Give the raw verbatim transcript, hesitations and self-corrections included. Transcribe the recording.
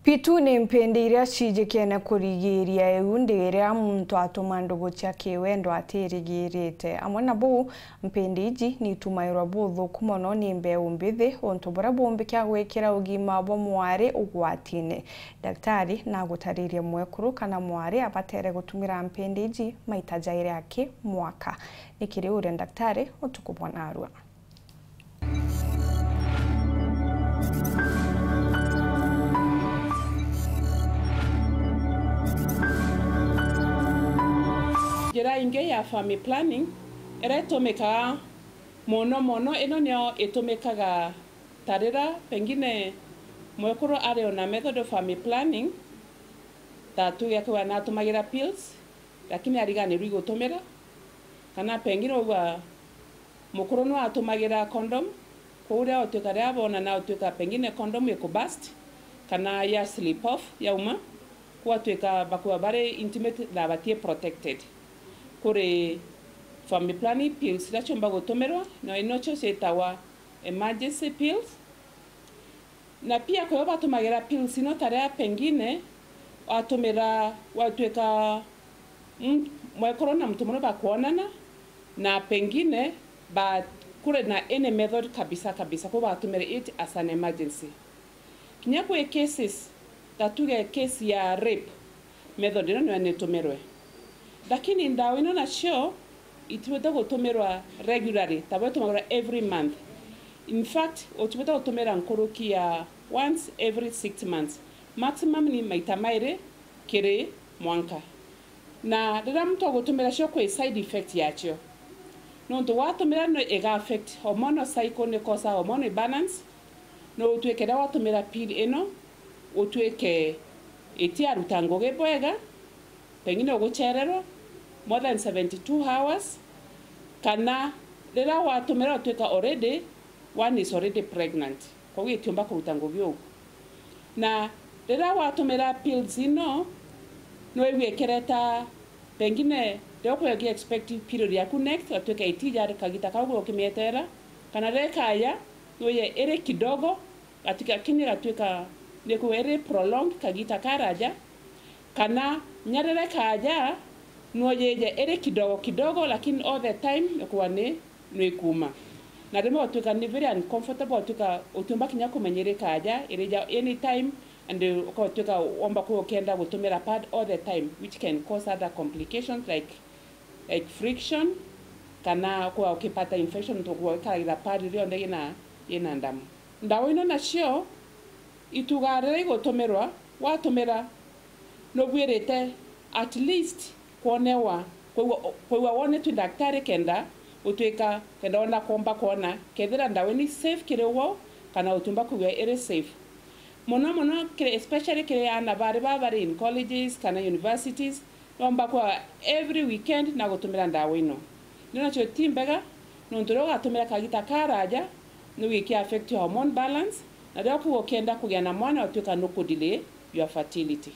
Pitu ni mpindi iria cijikene kurigiria iu ndi iria muntu atuma ndugu cia kiwendo atirigirite. Amwe na buu, mpindi iji ni itumairwa buthuku mono ni mbeu mbithi, untu buria bumbikia gwikira ugima bwa mwari ugwatine. Daktari nagutaririe mwekuru kana mwari abatere gutumira mpindi iji maita jairi aki mwaka. Ni kiri uria daktari utuku bwa narua. Njira ingi ya family planning iria itumikaga mono mono, ino niyo itumikaga ta riria pengine mwekuru ari on a method of family planning, ta tuge akiuga natumagira pills, lakini ariganirwe igutumira, kana pengine wauga mukuru no atumagira condom, kwou riria utuika riria bonana utuika pengine condom iku burst, kana ya slip off yauma, kwou atuika bakuwa bari intimate na batie protected. Kuri family planning pills iria ciumba gutumirwa, na inocio ciitagwa emergency pills. Na pia kwio batumagira pills ino ta riria pengine watumira, watuika, mm, mwekuru na muntu murume bakwonana, na pengine ba, kuri na any method kabisa kabisa, kwou batumire it as an emergency. Kinya kwi cases, ta tuge case ya rape, method ino niyo nitumirwe. Lakini ndawa ino nacio itibwite gutumirwa regularly, ta buria itumagirwa every month. In fact, utibwite gutumira nkuruki ya once every six months. Maximum ni maita mairi kiri mwanka. Na riria muntu agutumira cio, kwi side effect yacio. Nontu watumira no iga affect hormonal cycle, ni cause hormonal imbalance, no utuike riria watumira pill ino, utuike itiaruta ngugi bwega, pengine uguchererwa more than seventy-two hours, kana riria watumira utuika already, one is already pregnant, kwou itiumba kuruta ngugi ugu. Na riria watumira pills ino, no igue ikireta, pengine riria ukwigua expecting period yaku next, gatuika itija kagita kau ukimieterera, kana riria ikaja, no ije iri kidogo, gatuika kinya gatuika ni kuga iri prolonged kagita karaja, kana kinya riria ikaja, no yije iri kidogo kidogo, lakini all the time ni kuga ni, ni ikuma. Na rimwe gatuika ni very uncomfortable, gatuika utiumba kinya kumenya iri ikaja, irija anytime, and ukatuika womba kuga ukienda gutumira pad all the time, which can cause other complications like, like friction, kana kuga ukipata infection, nontu kuga ikaragira pad rionthe yina, yina ndamu. Ndawa ino nacio itugaa riria igutumirwa, watumira nubwirite at least kwonewa, kwigua, kwigua wonetwe ni daktari kenda utuika, kenda wona kwomba kwona kethira ndawa ino ni safe kiri wo, kana utiumba kwigua iri safe. Mono mono kiri, especially kiri aana bari baa bari in colleges kana universities, nomba kwa every weekend na gutumira ndawa ino. Ino nacio ti mbega, nontu riria ugatumira kagita karaja, ni wikia affect your hormone balance, na riria ukiuga ukienda kugia na mwana, utuika nukudelay your fertility.